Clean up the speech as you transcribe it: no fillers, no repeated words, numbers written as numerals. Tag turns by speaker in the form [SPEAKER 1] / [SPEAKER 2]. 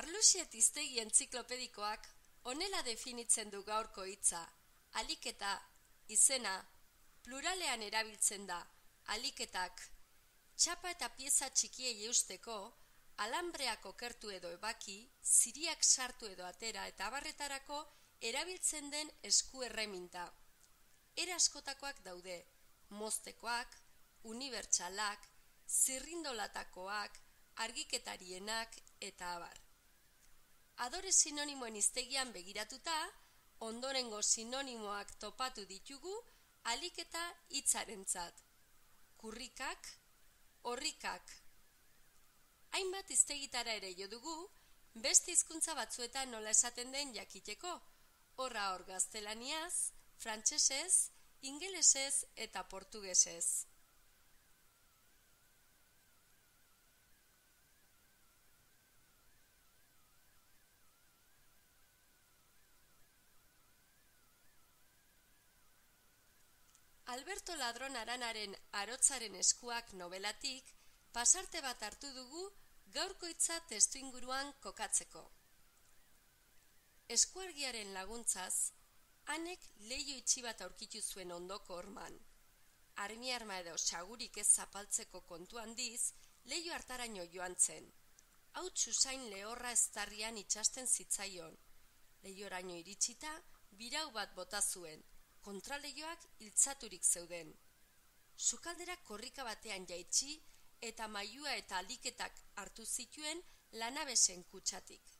[SPEAKER 1] Arluxiet hiztegi entziklopedikoak honela definitzen du gaurko hitza: aliketa, izena, pluralean erabiltzen da, aliketak. Txapa eta pieza txikiei eusteko, alambreak okertu edo ebaki, ziriak sartu edo atera eta abarretarako erabiltzen den esku erreminta. Era askotakoak daude: moztekoak, unibertsalak, zirrindolatakoak, argiketarienak eta abar. Adore sinonimoen hiztegian begiratuta, ondorengo sinonimoak topatu ditugu aliketa hitzarentzat: kurrikak, orrikak. Hainbat hiztegitara ere jo dugu, beste hizkuntza batzuetan nola esaten den jakiteko, horra hor gaztelaniaz, frantsesez, ingelesez eta portugesez. Alberto Ladron Aranaren Arotzaren eskuak nobelatik pasarte bat hartu dugu gaurko hitza testuinguruan kokatzeko. Eskuargiaren laguntzaz, Anek leiho itxi bat aurkitu zuen ondoko horman. Armi-arma edo sagurik ez zapaltzeko kontu handiz, leiho hartaraino joan zen. Hauts usain lehorra eztarrian itsasten zitzaion. Leihoraino iritsita, birau bat bota zuen. Kontraleioak iltzaturik zeuden. Sukaldera korrika batean jaitsi eta mailua eta aliketak hartu zituen lanabesen kutxatik.